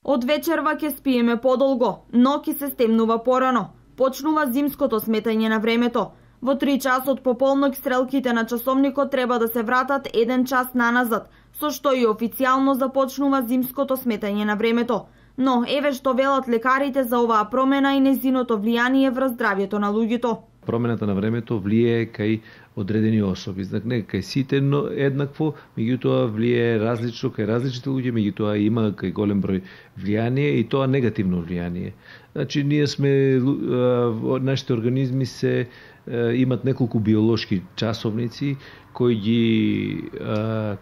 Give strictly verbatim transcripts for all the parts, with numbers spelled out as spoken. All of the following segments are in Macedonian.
Од вечерва ќе спиеме подолго, но ќе се стемнува порано. Почнува зимското сметање на времето. Во три часот пополнок стрелките на часовникот треба да се вратат еден час наназад, со што и официјално започнува зимското сметање на времето. Но еве што велат лекарите за оваа промена и незиното влијание врз здравјето на луѓето. Промената на времето влијае кај одредени особи, знак не кај сите но еднакво, меѓутоа влијае различно кај различните луѓе, меѓутоа има кај голем број влијание и тоа негативно влијание. Значи ние сме нашите организми се имат неколку биолошки часовници кои ги а,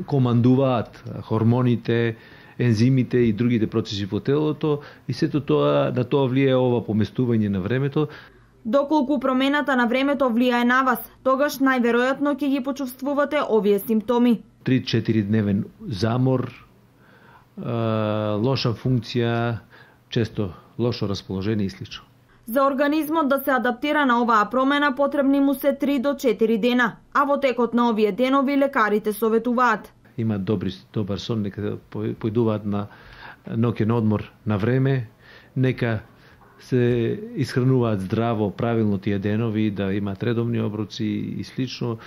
командуваат хормоните, ензимите и другите процеси во телото и сето тоа на тоа влијае ова поместување на времето. Доколку промената на времето влијае на вас, тогаш најверојатно ќе ги почувствувате овие симптоми. три-четири дневен замор, лоша функција, често лошо расположение и слично. За организмот да се адаптира на оваа промена потребни му се три до четири дена, а во текот на овие денови лекарите советуваат. Има добри, добар сон, нека појдуваат на ноќен одмор на време, нека се исхрануваат здраво, правилно тие денови, да имаат редовни оброци и слично.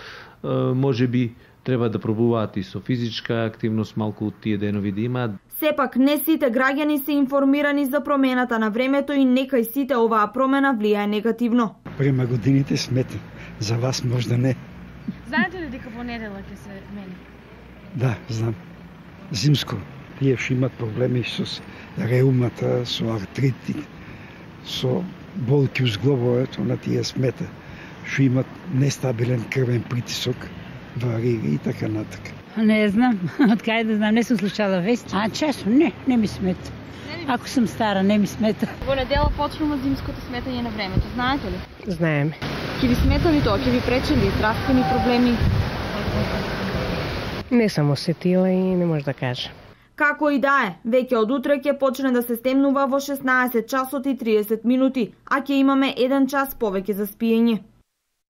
Може би треба да пробуваат и со физичка активност малку тие денови да имаат. Сепак не сите граѓани се информирани за промената на времето и некај сите оваа промена влијае негативно. Према годините смети, за вас можда не. Знаете ли дека во неделя ќе се мени? Да, знам. Зимско. Тие што имат проблеми со реумата, со артритит, со болки у зглобовето, на тие смета. Што имат нестабилен крвен притисок, варира и така натака. Не знам, од кај да знам, не сум слушала вести. А често не, не ми смета. Ако сум стара, не ми смета. Во недела почнува зимското сметање на времето, знаете ли? Знаеме. Ќе ви смета ли тоа? Ќе ви пречи ли здравствени проблеми? Не сум осетила и не може да кажа. Како и да е, веќе од утре ќе почне да се стемнува во шеснаесет часот и триесет минути, а ќе имаме еден час повеќе за спиење.